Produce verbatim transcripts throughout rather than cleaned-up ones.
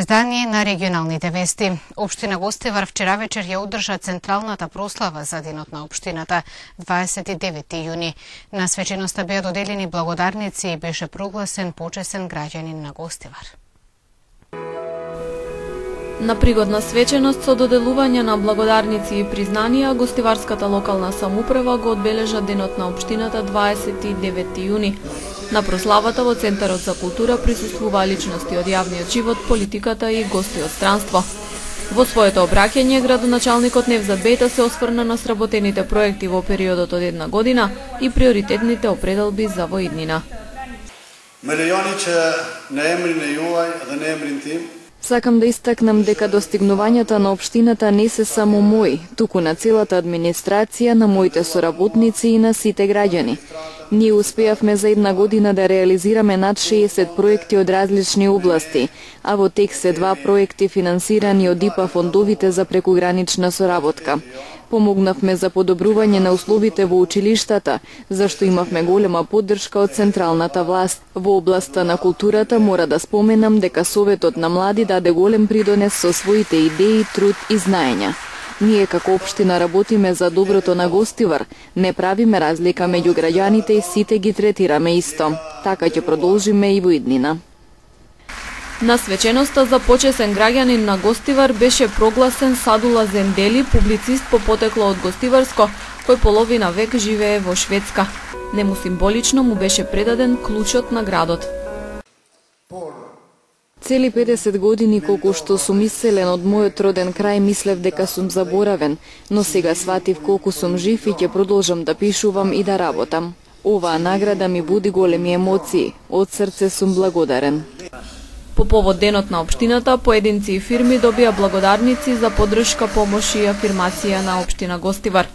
Издание на регионалните вести. Општина Гостивар вчера вечер ја одржа централната прослава за денот на општината, дваесет и девети јуни. На свеченоста беа доделени благодарници и беше прогласен почесен граѓанин на Гостивар. На пригодна свеченост со доделување на благодарници и признанија, Гостиварската локална самоуправа го одбележа денот на општината дваесет и девети јуни. На прославата во Центарот за култура присуствуваа личности од јавниот живот, политиката и гости од странство. Во своето обраќање, градоначалникот Невзат Бејта се осврна на сработените проекти во периодот од една година и приоритетните определби за воиднина. Ме лејони че на емрине јувај, да не емрин тим. Сакам да истакнам дека достигнувањата на општината не се само мои, туку на целата администрација, на моите соработници и на сите граѓани. Ние успеавме за една година да реализираме над шеесет проекти од различни области, а во тек се два проекти финансирани од ИПА фондовите за прекугранична соработка. Помогнавме за подобрување на условите во училиштата, зашто имавме голема поддршка од централната власт. Во областа на културата мора да споменам дека Советот на млади даде голем придонес со своите идеи, труд и знаења. Ние како општина работиме за доброто на Гостивар, не правиме разлика меѓу граѓаните и сите ги третираме исто. Така ќе продолжиме и во иднина. На свеченоста за почесен граѓанин на Гостивар беше прогласен Садула Зендели, публицист по потекло од Гостиварско, кој половина век живее во Шведска. Нему символично му беше предаден клучот на градот. Цели педесет години колку што сум иселен од мојот роден крај, мислев дека сум заборавен, но сега сватив колку сум жив и ќе продолжам да пишувам и да работам. Оваа награда ми буди големи емоции. Од срце сум благодарен. По повод денот на општината, поединци и фирми добија благодарници за поддршка, помош и афирмација на општина Гостивар.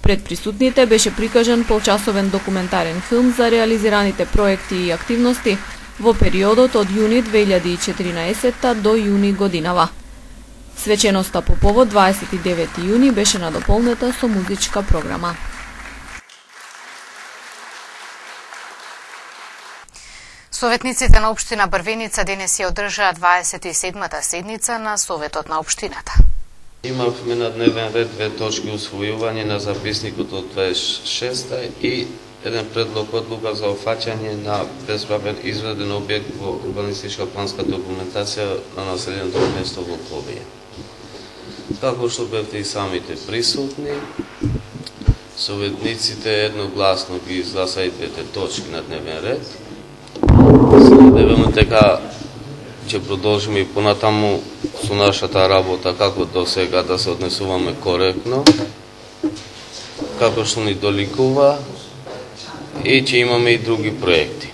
Пред присутните беше прикажан полчасовен документарен филм за реализираните проекти и активности во периодот од јуни две илјади и четиринаесетта до јуни годинава. Свеченоста по повод дваесет и девети јуни беше надополнета со музичка програма. Советниците на општина Брвеница денес ја одржаа дваесет и седмата седница на Советот на општината. Имавме на дневен ред две точки усвојување на записникот од дваесет и шеста и еден предлог одлука за офаќање на бесправен изведен објект во урбанистичка планска документација на населеното место во Ковија. Како што бевте и самите присутни, советниците едногласно ги изгласа и двете точки на дневен ред. Се надеваме дека ќе продолжиме и понатаму со нашата работа како до сега да се однесуваме коректно, како што ни доликува, и ќе имаме и други проекти.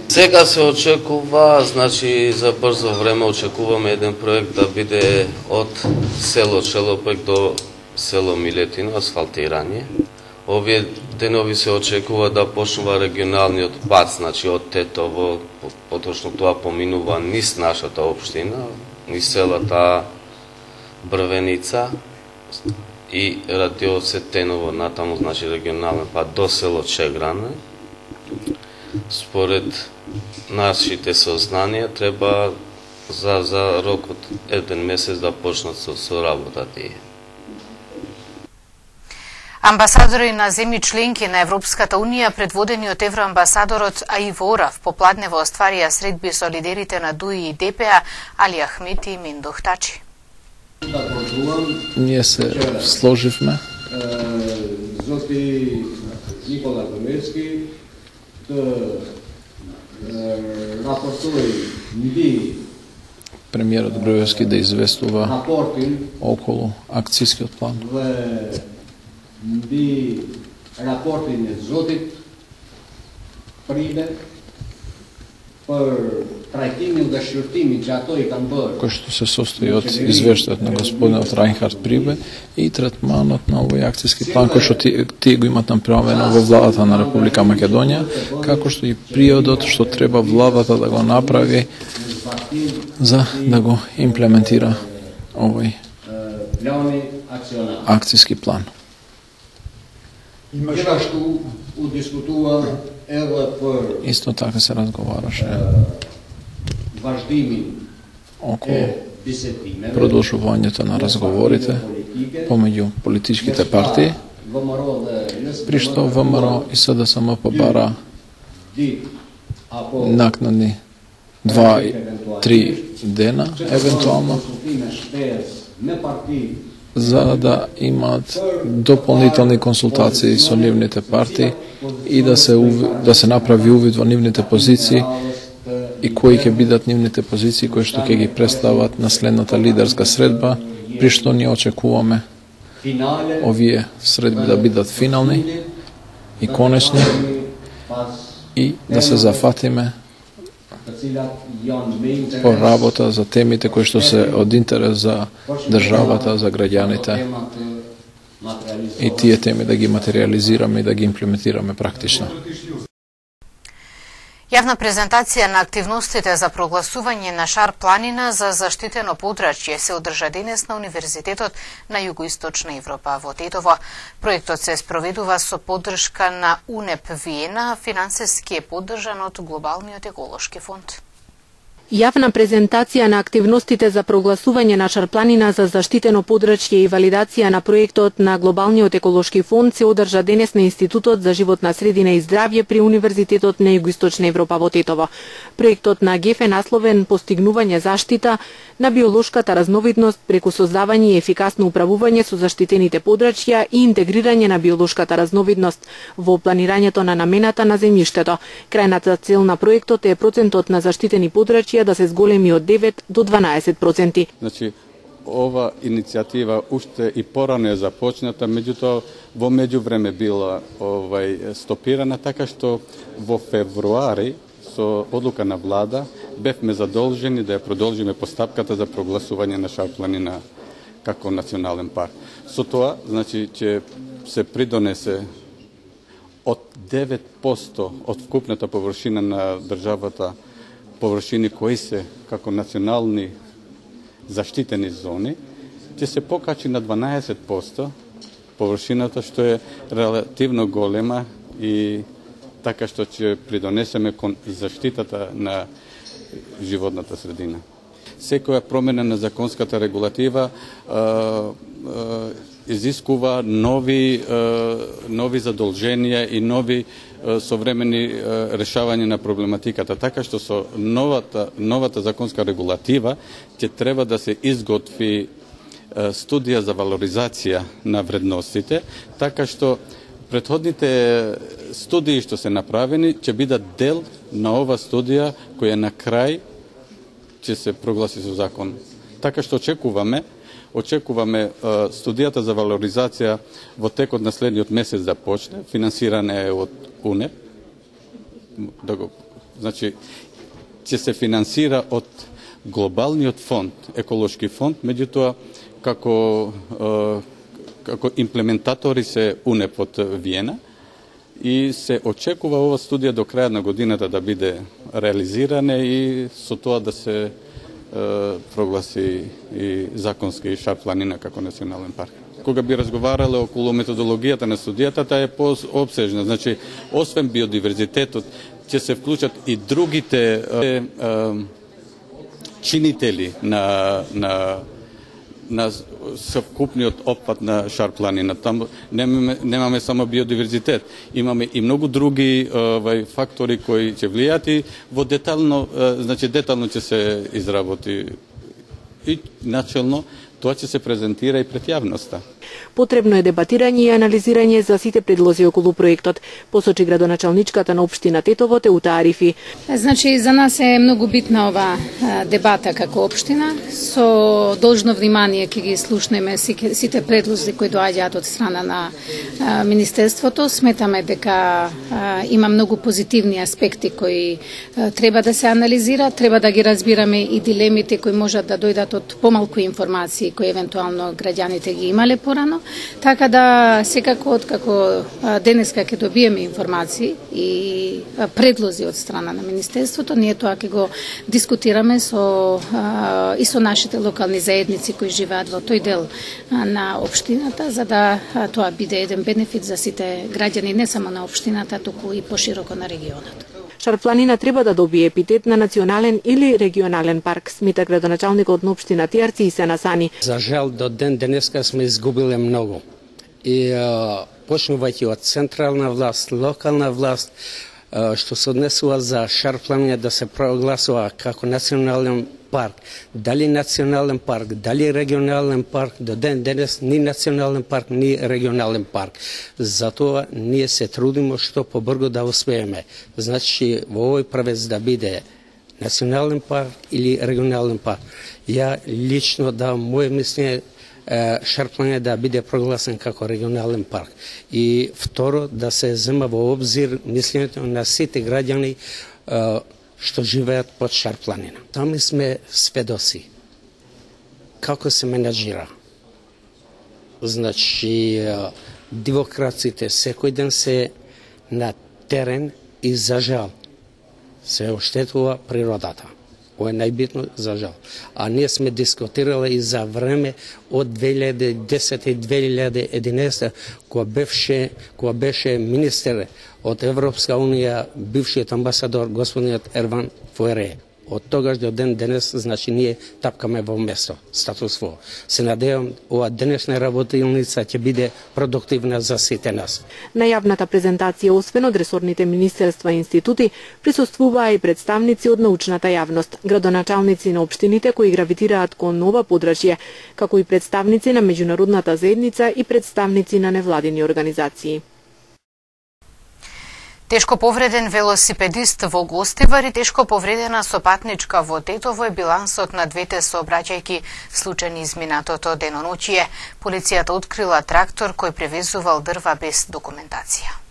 Сега се очекува, значи за брзо време очекуваме еден проект да биде од село Челопек до село Милетино, асфалтирање. Овие денови се очекува да почнува регионалниот пат, значи од Тетово, поточно тоа поминува низ нашата општина, низ селата Брвеница и радиоце Теново, натаму, значи регионален пат до село Чегране. Според нашите сознанија треба за, за рок од еден месец да почнат со, со работата. Амбасадори на земји членки на Европската унија, предводени од евроамбасадорот Аиво Орав, попладнево остварија средби со лидерите на ДУИ и ДПА, Али Ахмети и Мендох Тачи. Ние се сложивме. Зоти Никола Комецки да рапортуи нди Премиерот Груевски да известува околу акцијскиот план. Нди рапорти не зотит приде кој што се состои од извештајот на господинот Рајнхард Прибе и третманот на овој акцијски план кој што тие, тие го имат направено во владата на Република Македонија, како што и приодот што треба владата да го направи за да го имплементира овој акцијски план. Имаше што удискутува Исто така се разговараше околу продолжувањето на разговорите помеѓу политичките партии, при што ВМРО и СДСМ побара накнадни два и три дена, евентуално, за да имаат дополнителни консултации со нивните партии и да се да се направи увид во нивните позиции и кои ќе бидат нивните позиции кои што ќе ги представат на следната лидерска средба, при што ние очекуваме овие средби да бидат финални и конечни и да се зафатиме по работа за темите кои што се од интерес за државата, за граѓаните и тие теми да ги материализираме и да ги имплементираме практично. Јавна презентација на активностите за прогласување на Шар планина за заштитено подрачје се одржа денес на Универзитетот на Југоисточна Европа во Тетово. Проектот се спроведува со поддршка на УНЕП Виена, финансиски е поддржан од Глобалниот еколошки фонд. Јавна презентација на активностите за прогласување на Шар планина за заштитено подрачје и валидација на проектот на Глобалниот еколошки фонд се одржа денес на Институтот за животна средина и здравје при Универзитетот на Југоисточна Европа во Тетово. Проектот на ГЕФ е насловен Постигнување заштита на биолошката разновидност преку создавање и ефикасно управување со заштитените подрачја и интегрирање на биолошката разновидност во планирањето на намената на земјиштето. Крајната цел на проектот е процентот на заштитени подрачја да се зголеми од девет до дванаесет проценти. Значи, ова иницијатива уште и порано е започната, меѓутоа во меѓувреме била овај стопирана, така што во февруари со одлука на влада бевме задолжени да ја продолжиме постапката за прогласување на Шар планина како национален парк. Со тоа, значи, ќе се придонесе од девет проценти од вкупната површина на државата површини кои се како национални заштитени зони, ќе се покачи на дванаесет проценти површината, што е релативно голема и така што ќе придонесеме кон заштитата на животната средина. Секоја промена на законската регулатива а, а, изискува нови, а, нови задолженија и нови а, современи а, решавање на проблематиката. Така што со новата, новата законска регулатива ќе треба да се изготви а, студија за валоризација на вредностите, така што претходните студии што се направени ќе бидат дел на ова студија која на крај ќе се прогласи со закон. Така што очекуваме, очекуваме студијата за валоризација во текот на следниот месец да почне, финансирана е од УНЕП. Да го, значи ќе се финансира од Глобалниот фонд, еколошки фонд, меѓутоа како како имплементатори се УНЕП од Виена и се очекува ова студија до крајот на годината да биде реализирана и со тоа да се е, прогласи и законски Шар планина како национален парк. Кога би разговарале околу методологијата на студијата, таа е пообсежна. Значи, освен биодиверзитетот, ќе се вклучат и другите е, е, чинители на на на совкупниот опфат на Шар планина. Там немаме, немаме само биодиверзитет, имаме и многу други овај фактори кои ќе влијаат и во детално, значи детално ќе се изработи и начелно тоа ќе се презентира и пред јавноста. Потребно е дебатирање и анализирање за сите предлози околу проектот, посочи градоначалничката на општина Тетово Теута Арифи. Значи, за нас е многу битна ова дебата како општина. Со должно внимание ќе ги слушнеме сите предлози кои доаѓаат од страна на Министерството. Сметаме дека има многу позитивни аспекти кои треба да се анализираат, треба да ги разбираме и дилемите кои можат да дојдат од помалку информации кои евентуално граѓаните ги имале порано. Така да секако откако денеска ќе добиеме информации и предлози од страна на Министерството, ние тоа ќе го дискутираме со и со нашите локални заедници кои живеат во тој дел на општината, за да тоа биде еден бенефит за сите граѓани, не само на општината, туку и пошироко на регионот. Шарпланина треба да добие епитет на национален или регионален парк, смета градоначалникот на општина Тијарци и Сена Сани. За жал до ден денеска сме изгубиле многу. И а, почнувајќи од централна власт, локална власт, а, што се однесува за Шарпланина да се прогласува како национален парк, дали национален парк, дали регионален парк, до ден денес ни национален парк, ни регионален парк. Затоа ние се трудиме што побрзо да успееме. Значи во овој правец да биде национален парк или регионален парк. Ја лично давам моје мислење Шарпланина да биде прогласен како регионален парк. И второ, да се зема во обзир мислењето на сите граѓани што живеат под Шарпланина. Сами сме сведоци како се менаџира. Значи, демокраците секој ден се на терен и за жал се оштетува природата. Ова е најбитно за жал. А ние сме дискутирали и за време од две илјади и десета и две илјади и единаесета, кога беше, кога беше министер од Европска унија, бившиот амбасадор господинот Ерван Фуере. Од тогаш до ден денес, значи ние тапкаме во место, статус-кво. Се надевам, ова денешна работилница ќе биде продуктивна за сите нас. На јавната презентација, освен од ресорните министерства и институти, присуствуваа и представници од научната јавност, градоначалници на општините кои гравитираат кон ова подрачје, како и представници на меѓународната заедница и представници на невладини организации. Тешко повреден велосипедист во Гостивар и тешко повредена сопатничка во Тетово е билансот на двете сообраќајки случајни изминатото деноноќие. Полицијата открила трактор кој превезувал дрва без документација.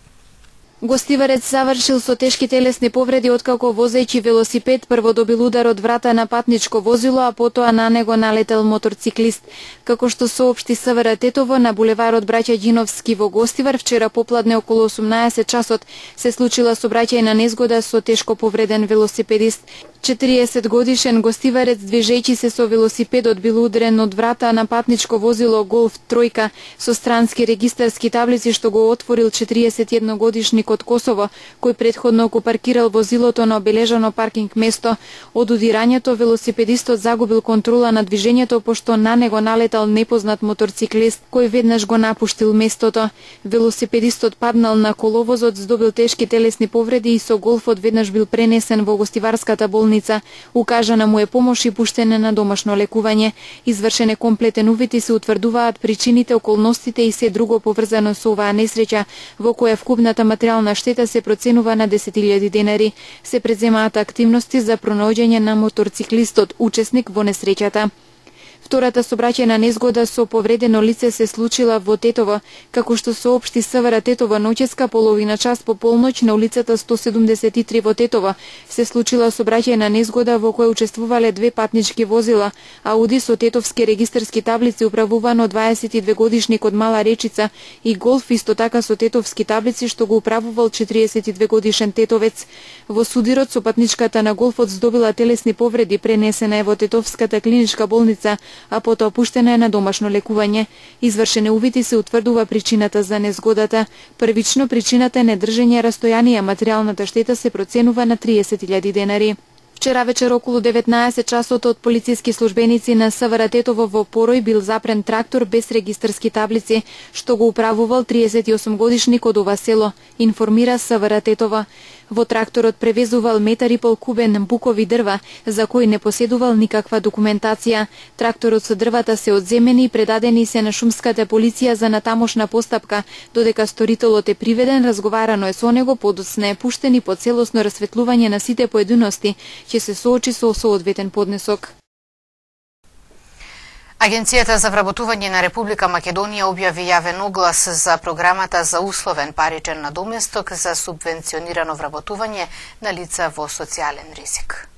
Гостиварец завршил со тешки телесни повреди откако возејќи велосипед прво добил удар од врата на патничко возило, а потоа на него налетел моторциклист. Како што соопшти СВР Тетово, на булеварот Браќа Ѓиновски во Гостивар вчера попладне околу осумнаесет часот се случила сообраќајна незгода со тешко повреден велосипедист. четириесет годишен гостиварец движејќи се со велосипедот бил удрен од врата на патничко возило Голф тројка со странски регистарски таблици што го отворил четириесет и едногодишник од Косово, кој претходно го паркирал возилото на обележано паркинг место. Од удирањето велосипедистот загубил контрола на движењето пошто на него налетал непознат моторциклист кој веднаш го напуштил местото. Велосипедистот паднал на коловозот, здобил тешки телесни повреди и со Голфот веднаш бил пренесен во Гостиварската болница. Укажана му е помош и пуштене на домашно лекување. Извршен комплетен увид и се утврдуваат причините, околностите и се друго поврзано со оваа несреќа, во која вкупната материјална штета се проценува на десет илјади денари. Се преземаат активности за пронаоѓање на моторциклистот, учесник во несреќата. Втората сообраќајна незгода со повредено лице се случила во Тетово, како што соопшти СВР Тетово ноческа половина час по полноќ на улицата сто седумдесет и три во Тетово се случила сообраќајна незгода во која учествувале две патнички возила, Ауди со тетовски регистарски таблици управуван од дваесет и две годишник од Мала Речица и Голф исто така со тетовски таблици што го управувал четириесет и две годишен тетовец. Во судирот со патничката на Голфот здобила телесни повреди, пренесена е во Тетовската клиничка болница, а потоа пуштена е на домашно лекување. Извршене увид и се утврдува причината за незгодата. Првично причината е недржење растојание, материјалната штета се проценува на триесет илјади денари. Вчера вечер околу деветнаесет часот од полициски службеници на СВР Тетово во Порој бил запрен трактор без регистарски таблици, што го управувал триесет и осум годишник од ова село, информира СВР Тетово. Во тракторот превезувал метар и пол кубен букови дрва, за кои не поседувал никаква документација. Тракторот со дрвата се одземени и предадени се на шумската полиција за натамошна постапка, додека сторителот е приведен, разговарано е со него, подоцна е пуштен и по целосно расветлување на сите поединости ќе се соочи со соодветен поднесок. Агенцијата за вработување на Република Македонија објави јавен оглас за програмата за условен паричен надоместок за субвенционирано вработување на лица во социјален ризик.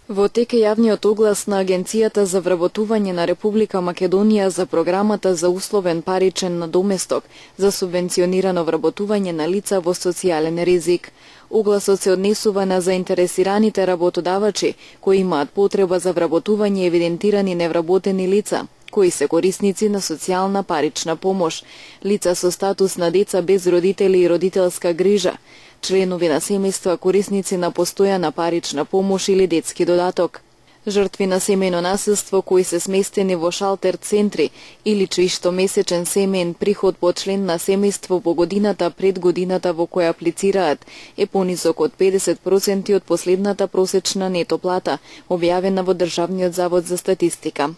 Во тек е јавниот оглас на Агенцијата за вработување на Република Македонија за програмата за условен паричен надоместок за субвенционирано вработување на лица во социјален ризик. Огласот се однесува на заинтересираните работодавачи кои имаат потреба за вработување евидентирани невработени лица, кои се корисници на социјална парична помош, лица со статус на деца без родители и родителска грижа, членови на семејства корисници на постојана парична помош или детски додаток, жртви на семејно насилство кои се сместени во шалтер центри или чиј што месечен семеен приход по член на семејство во годината пред годината во која аплицираат е понизок од педесет проценти од последната просечна нето плата, објавена во Државниот завод за статистика.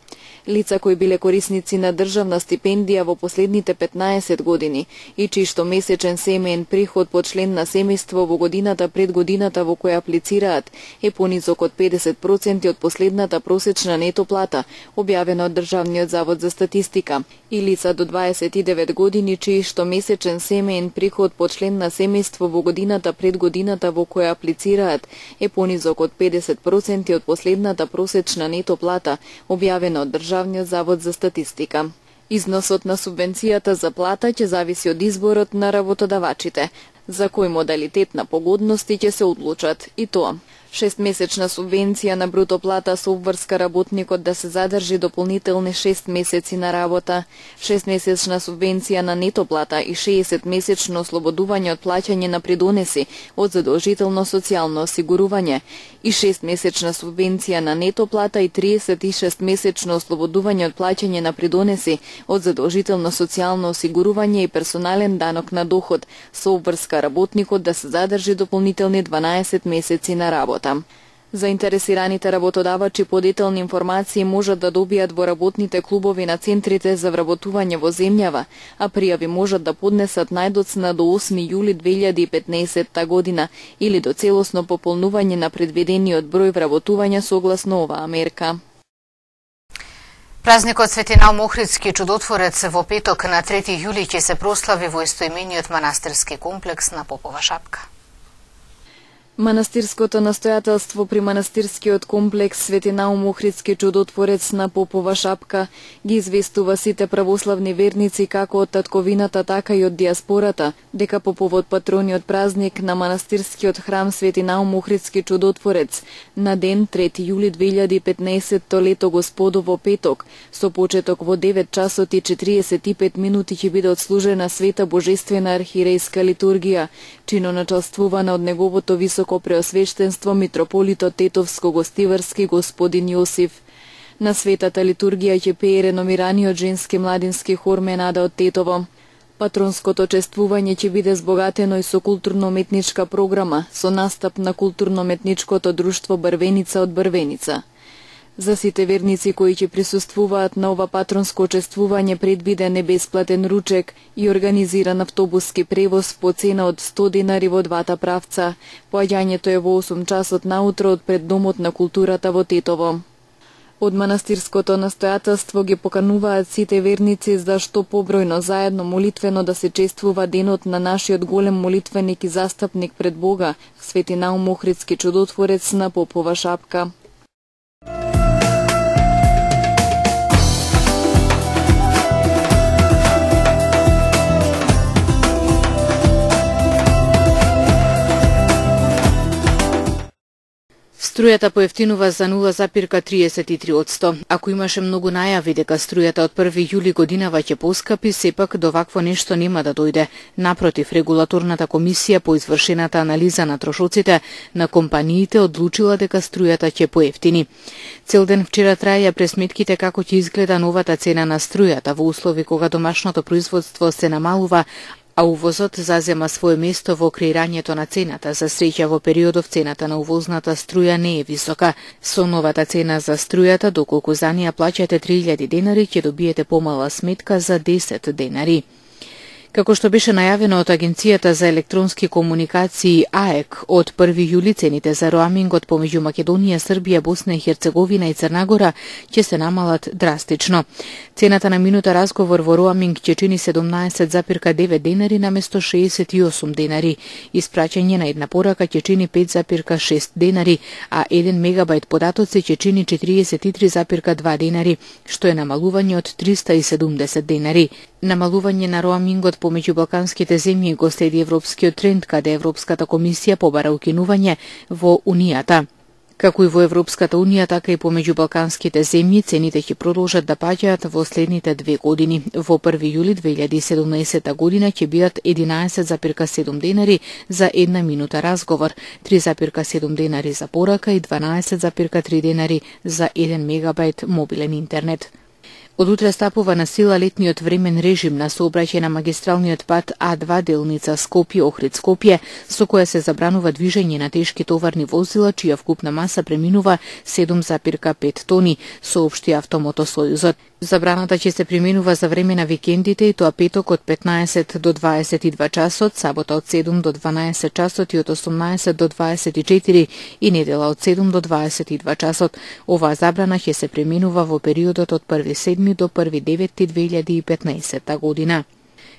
Лица кои биле корисници на државна стипендија во последните петнаесет години и чиј што месечен семеен приход по член на семејство во годината пред годината во која аплицираат е понизок од педесет проценти од последната просечна нето плата, објавена од Државниот завод за статистика, и лица до дваесет и девет години чиј што месечен семеен приход по член на семејство во годината пред годината во која аплицираат е понизок од педесет проценти од последната просечна нето плата, објавена од Државниот завод за статистика. Износот на субвенцијата за плата ќе зависи од изборот на работодавачите, за кој модалитет на погодности ќе се одлучат, и тоа шестмесечна субвенција на бруто плата со обврска работникот да се задржи дополнителни шест месеци на работа, шестмесечна субвенција на нето плата и шеесет-месечно ослободување од плаќање на придонеси од задолжително социјално осигурување и шестмесечна субвенција на нето плата и триесет и шест-месечно ослободување од плаќање на придонеси од задолжително социјално осигурување и персонален данок на доход со обврска работникот да се задржи дополнителни дванаесет месеци на работа. Заинтересираните работодавачи подетелни информации можат да добијат во работните клубови на центрите за вработување во земјава, а пријави можат да поднесат најдоцна до осми јули две илјади и петнаесетта година или до целосно пополнување на предвидениот број вработувања согласно оваа мерка. Празникот Свети Наум Охридски чудотворец во петок на трети јули ќе се прослави во истоимениот манастирски комплекс на Попова шапка. Манастирското настојателство при манастирскиот комплекс Свети Наум Охридски чудотворец на Попова шапка ги известува сите православни верници како од татковината, така и од диаспората, дека по повод патрониот празник на манастирскиот храм Свети Наум Охридски чудотворец на ден трети јули две илјади и петнаесетто лето Господово петок, со почеток во девет часот и четириесет и пет минути ќе биде отслужена света божествена архиерејска литургија, чиноначалствувана од неговото високо преосвештенство митрополитот Тетовско-Гостиварски господин Јосиф. На светата литургија ќе пее реномираниот женски младински хор Менада од Тетово. Патронското чествување ќе биде збогатено и со културно-уметничка програма, со настап на културно-уметничкото друштво Брвеница од Брвеница. За сите верници кои ќе присуствуваат на ова патронско чествување предвиден е бесплатен ручек и организиран автобуски превоз по цена од сто динари во двата правца. Поаѓањето е во осум часот наутро од пред Домот на културата во Тетово. Од манастирското настојателство ги покануваат сите верници за што побројно заедно молитвено да се чествува денот на нашиот голем молитвеник и застапник пред Бога, Свети Наум Охридски чудотворец на Попова шапка. Струјата поевтинува за нула запирка триесет и три одсто. Ако имаше многу најави дека струјата од први јули годинава ќе поскапи, сепак до вакво нешто нема да дојде. Напротив, регулаторната комисија по извршената анализа на трошоците на компаниите одлучила дека струјата ќе поевтини. Цел ден вчера траја пресметките како ќе изгледа новата цена на струјата во услови кога домашното производство се намалува, а увозот зазема свое место во креирањето на цената. За среќа во периодов цената на увозната струја не е висока. Со новата цена за струјата, доколку за неа плаќате три илјади денари, ќе добиете помала сметка за десет денари. Како што беше најавено од Агенцијата за електронски комуникации А Е К, од први јули цените за роамингот помеѓу Македонија, Србија, Босна и Херцеговина и Црна Гора ќе се намалат драстично. Цената на минута разговор во роаминг ќе чини седумнаесет запирка девет денари наместо шеесет и осум денари. Испраќање на една порака ќе чини пет запирка шест денари, а еден мегабајт податоци ќе чини четириесет и три запирка два денари, што е намалување од триста и седумдесет денари. Намалување на роамингот помеѓу балканските земји го следи европскиот тренд, каде Европската комисија побара укинување во Унијата. Како и во Европската Унија, така и помеѓу балканските земји, цените ќе продолжат да паѓаат во следните две години. Во први јули две илјади и седумнаесета година ќе бидат единаесет зарез седум денари за една минута разговор, три зарез седум денари за порака и дванаесет зарез три денари за еден мегабајт мобилен интернет. Од утре стапува на сила летниот времен режим на сообраќај на магистралниот пат А два делница Скопје-Охрид-Скопје, со која се забранува движење на тешки товарни возила, чија вкупна маса преминува седум зарез пет тони, соопшти Автомотосојузот. Забраната ќе се применува за време на викендите и тоа петок од петнаесет до дваесет и два часот, сабота од седум до дванаесет часот и од осумнаесет до дваесет и четири и недела од седум до дваесет и два часот. Оваа забрана ќе се применува во периодот од први седми до први девети две илјади и петнаесета година.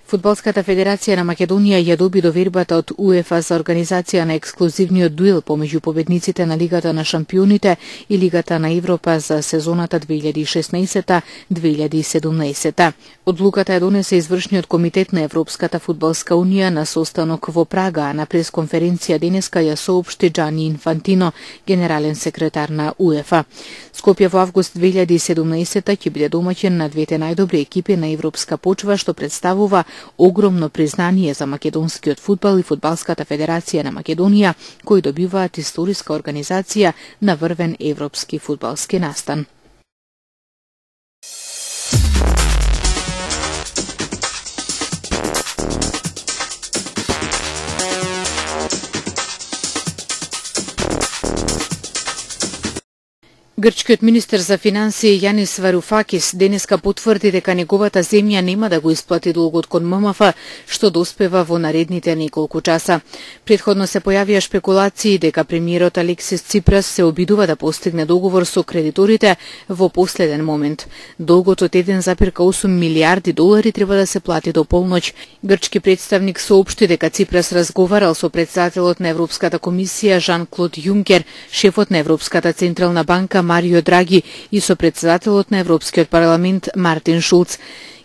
Фудбалската федерација на Македонија ја доби довербата од УЕФА за организација на ексклузивниот дуел помеѓу победниците на Лигата на шампионите и Лигата на Европа за сезоната две илјади и шеснаесета две илјади и седумнаесета. Одлуката ја донесе извршниот комитет на Европската фудбалска унија на состанок во Прага, а на пресконференција денеска ја соопшти Џани Инфантино, генерален секретар на УЕФА. Скопје во август две илјади и седумнаесета ќе биде домаќин на двете најдобри екипи на европска почва, што представува огромно признание за македонскиот фудбал и Фудбалската федерација на Македонија, кои добиваат историска организација на врвен европски фудбалски настан. Грчкиот министер за финансии Јанис Варуфакис денеска потврди дека неговата земја нема да го исплати долгот кон ММФ, што доспева во наредните неколку часа. Претходно се појавија шпекулации дека премиерот Алексис Ципрас се обидува да постигне договор со кредиторите во последен момент. Долгот од еден зарез осум милијарди долари треба да се плати до полноќ. Грчки представник соопшти дека Ципрас разговарал со претседателот на Европската комисија Жан-Клод Јункер, шефот на Европската централна банка Марио Драги и со претседателот на Европскиот парламент Мартин Шулц.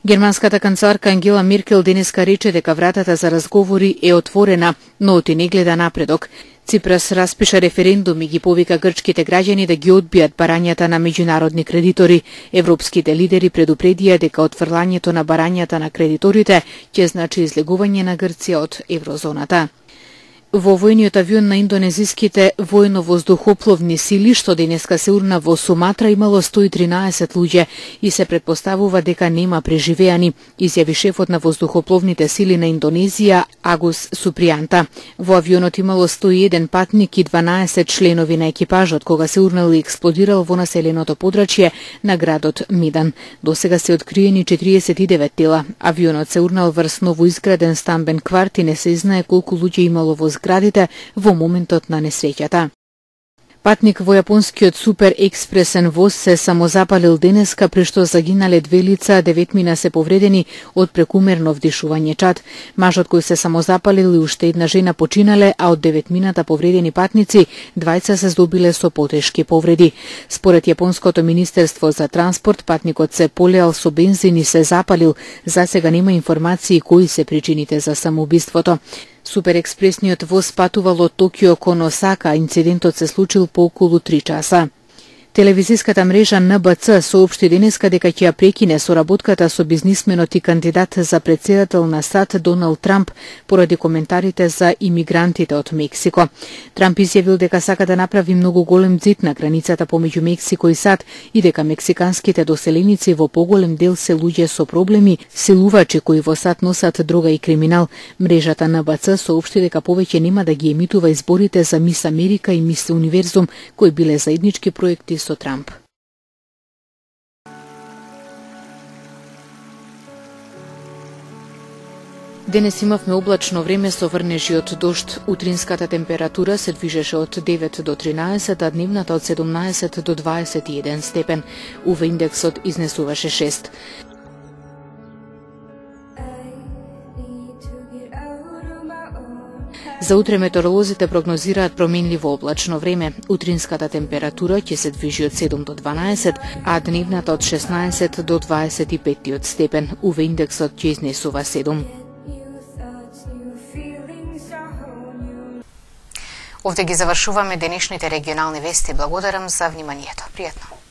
Германската канцеларка Ангела Меркел денеска рече дека вратата за разговори е отворена, но оти не гледа напредок. Ципрас распиша референдум и ги повика грчките граѓани да ги одбијат барањата на меѓународни кредитори. Европските лидери предупредија дека отфрлањето на барањата на кредиторите ќе значи излегување на Грција од еврозоната. Во војниот авион на индонезиските војно-воздухопловни сили, што денеска се урна во Суматра, имало сто и тринаесет луѓе и се претпоставува дека нема преживеани, изјави шефот на воздухопловните сили на Индонезија Агус Супријанта. Во авионот имало сто и еден патник и дванаесет членови на екипажот кога се урнал и експлодирал во населеното подрачје на градот Мидан. Досега се откриени четириесет и девет тела. Авионот се урнал врз новоизграден стамбен кварт и не се знае колку луѓе имало во градите во моментот на несреќата. Патник во јапонскиот супер експресен воз се самозапалил денеска, при што загинале две лица, деветмина се повредени од прекумерно вдишување чад. Мажот кој се самозапалил и уште една жена починале, а од деветмината повредени патници, двајца се здобиле со потешки повреди. Според Јапонското министерство за транспорт, патникот се полеал со бензин и се запалил. За сега нема информации кои се причините за самоубиството. Суперекспресниот воз патувал од Токио кон Осака, инцидентот се случил по околу три часа. Телевизиската мрежа Н Б Ц соопшти денеска дека ќе ја прекине соработката со бизнисменот и кандидат за председател на САД Доналд Трамп поради коментарите за имигрантите од Мексико. Трамп изјавил дека сака да направи многу голем зид на границата помеѓу Мексико и САД и дека мексиканските доселеници во поголем дел се луѓе со проблеми, силувачи кои во САД носат дрога и криминал. Мрежата Н Б Ц соопшти дека повеќе нема да ги емитува изборите за Мис Америка и Мис Универзум, кои биле заеднички проекти со Трамп. Денес имавме облачно време со врнежи од дожд. Утринската температура се движеше од девет до тринаесет, а дневната од седумнаесет до дваесет и еден степен. У В индексот изнесуваше шест. За утре метеоролозите прогнозираат променливо облачно време. Утринската температура ќе се движи од седум до дванаесет, а дневната од шеснаесет до дваесет и пет степен. У В индексот ќе изнесува седум. Овде ги завршуваме денешните регионални вести. Благодарам за вниманието. Пријатно.